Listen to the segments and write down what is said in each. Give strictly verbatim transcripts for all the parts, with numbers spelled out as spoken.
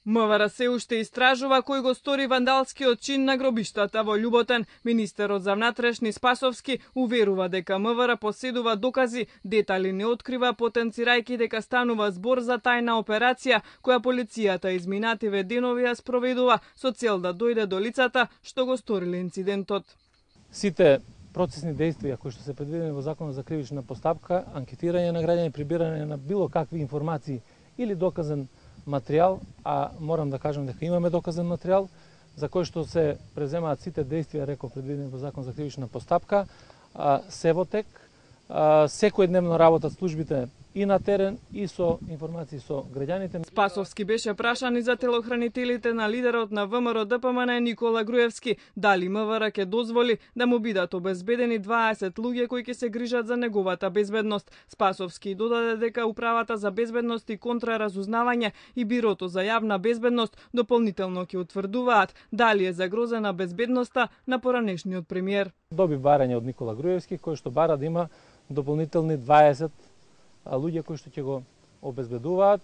МВР се уште истражува кој го стори вандалскиот чин на гробиштата во Љуботен. Министерот за внатрешни Спасовски уверува дека МВР поседува докази, детали не открива, потенцирајќи дека станува збор за тајна операција која полицијата изминативе денови ја спроведува со цел да дојде до лицата што го сториле инцидентот. Сите процесни действија кои што се предвидени во Законот за кривична постапка, анкетирање на граѓани, прибирање на било какви информации или доказен материјал, а морам да кажам дека имаме доказен материјал, за кој што се преземаат сите действија, реков, предвидени во Закон за кривична постапка, се во тек, секојдневно работат службите и на терен, и со информации со граѓаните. Спасовски беше прашан и за телохранителите на лидерот на ВМРО Д П М Н Никола Груевски, дали МВР ќе дозволи да му бидат обезбедени дваесет луѓе кои ќе се грижат за неговата безбедност. Спасовски додаде дека Управата за безбедност и контраразузнавање и Бирото за јавна безбедност дополнително ќе утврдуваат дали е загрозена безбедноста на поранешниот премиер. Доби барање од Никола Груевски кој што бара да има дополнителни дваесет луѓе кои што ќе го обезбедуваат.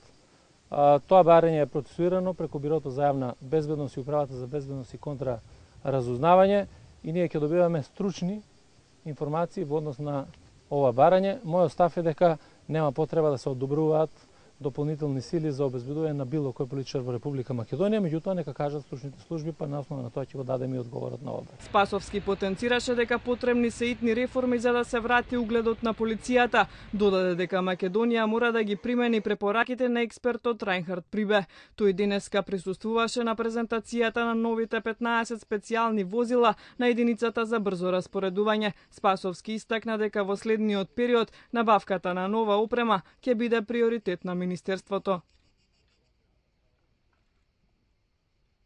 Тоа барање е процесуирано преку Бирото за јавна безбедност и Управата за безбедност и контраразузнавање и ние ќе добиваме стручни информации во однос на ова барање. Мојот став е дека нема потреба да се одобруваат дополнителни сили за обезбедување на било кој политичар во Република Македонија, меѓутоа нека кажат стручните служби, па на основа на тоа ќе го дадеме и одговорот на ова. Спасовски потенцираше дека потребни се итни реформи за да се врати угледот на полицијата. Додаде дека Македонија мора да ги примени препораките на експертот Рајнхард Прибе. Тој денеска присуствуваше на презентацијата на новите петнаесет специјални возила на единицата за брзо распоредување. Спасовски истакна дека во следниот период набавката на нова опрема ќе биде приоритет на Министерството.